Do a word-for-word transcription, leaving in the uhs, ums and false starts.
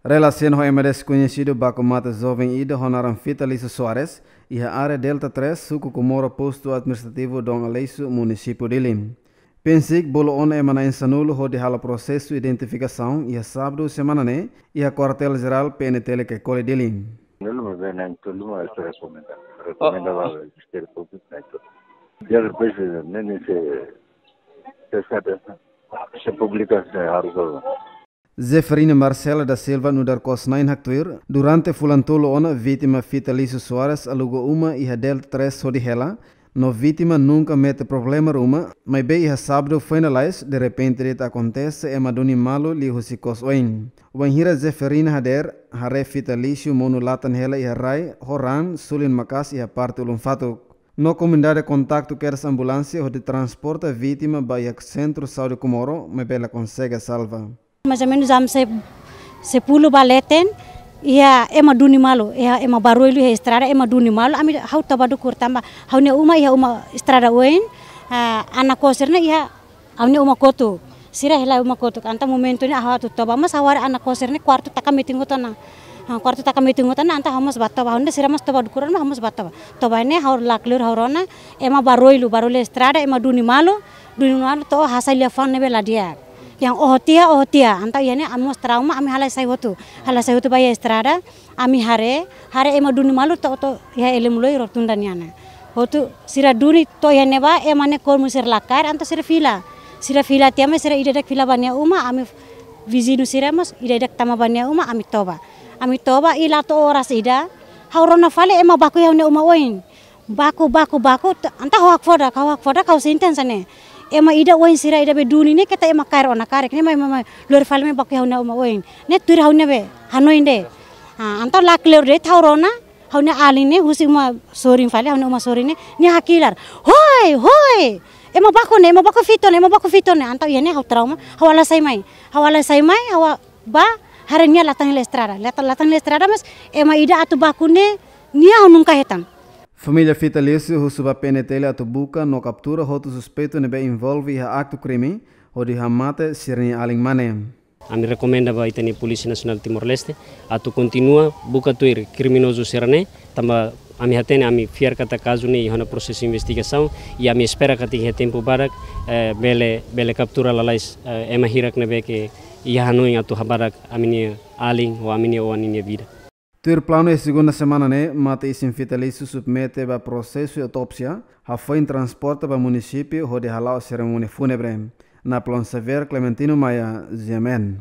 Relasiona ho ema deskoñesidu baku mate joven ida ho naran Fitalício Soares, iha área Delta três, suku Comoro, postu administrativu Dom Aleixo, munisípiu Dili. PNCIC bolu ona ema na'in sanulu hodi halo prosesu identifikasaun iha sábadu semana ne'e, iha kuartél jerál PNTL Caicoli Dili. Nulu, mas é na'in tolu, mas rekomenda. Rekomenda ba Ministériu Públiku na'in tolu. Já depois, nem se, se sabe, se publika, se harus. Zeferina Marcela da Silva nu'udar kosna'in haktuir, durante fulan tolu ona vítima Fitalício Soares aluga uma iha Delta três hodi hela, no vítima nunka mete problema ruma, maibé iha sábadu foin lalais, derrepente de'it akontese ema duni malu liuhusi kos oin. Wainhira Zeferina hadeer, haree Fitalício monu latan hela iha rai, ho raan, sulin maka'as iha parte ulun fatuk. No komunidade kontaktu kedas ambulánsia hodi transporta vítima ba iha Sentru Saúde Comoro, maibé la konsege salva. Mais ou menos jam se, sepuluh ba leten, iha ema duni malu, iha ema barullu iha estrada, ema duni malu, ami ha'u toba dukur tanba ha'u-nia uma iha uma estrada oin, ah, anak kosir ne'e iha ha'u-nia uma kotuk. Sira hela uma kotuk. Entaun momentu ne'e ha'u atu toba, mas ha'u haree anak kosir ne'e kuartu taka metin hotu ona. Ah, kuartu taka metin hotu ona, entaun ha'u mós ba toba, ha'u-nia sira mós toba dukur ona, ha'u mós ba toba. Toba ne'e ha'u lakleur ha'u rona, ema barullu, barullu estrada, ema duni malu, duni malu to'o hasai liafuan ne'ebé la di'ak. Yang oho tiha, oho tiha. Entaun iha ne'e ami mós trauma, ami halai sai hotu. Halai sai hotu ba iha estrada, ami haree, haree ema duni malu to'o, to'o iha Elemuloi rotunda nian ne'e. Hotu sira duni to'o iha ne'ebá, ema ne'e kolmu sira la kaer, entaun sira fila. Sira fila tiha mai, sira ida-idak fila ba nia uma, ami viziñu sira mós ida-idak tama ba nia uma, ami toba. Ami toba, i la to'o oras ida, ha'u rona fali ema baku iha ha'u-nia uma oin. Baku, baku, baku, t-, entaun ha'u hakfodak, ha'u hakfodak, ha'u sente hanesan ne'e. Ema ida oin sira ida be duni ne'e keta ema kaer ona karik ne'e, mai, mai, mai, lori fali mai baku iha ha'u-nia uma oin. Ne'e tuir ha'u-nia be hanoin de'it. Ah, entaun lakleur de'it ha'u rona, ha'u-nia alin ne'e, husi uma sorin fali, ha'u-nia uma sorin ne'e, nia hakilar. Hoi, hoi! Ema baku ne'e, ema baku fitton ne'e, ema baku fitton ne'e. Entaun iha ne'e ha'u trauma, ha'u halai sai mai. Ha'u halai sai mai, ha'u ba haree nia latan hela estrada. Latan, latan hela estrada, mas ema ida atu baku ne'e, nia ha'u nunka hetan. Família Fitalício husu ba PNTL atu buka no kaptura hotu suspeitu ne'ebé envolve iha aktu krime, hodi hamate sira-nia alin mane. Ami rekomenda ba ita-nia Polísia Nasionál Timor-Leste atu kontinua buka tuir kriminozu sira-ne'e, tanba ami hatene, ami fiar katak kazu ne'e iha ona prosesu investigasaun, i ami espera katak iha tempu badak, eh, bele, bele kaptura lalais, eh, ema hirak ne'ebé ke iha hanoin atu habadak ami-nia alin ou ami-nia oan ninia vida. Tuir planu iha segunda semana ne'e, mate-isin Fitalício submete ba prosesu autópsia, hafoin transporta ba munisípiu hodi hala'o serimónia fúnebre. Napoleão Xavier, Clementino Maia, GMN.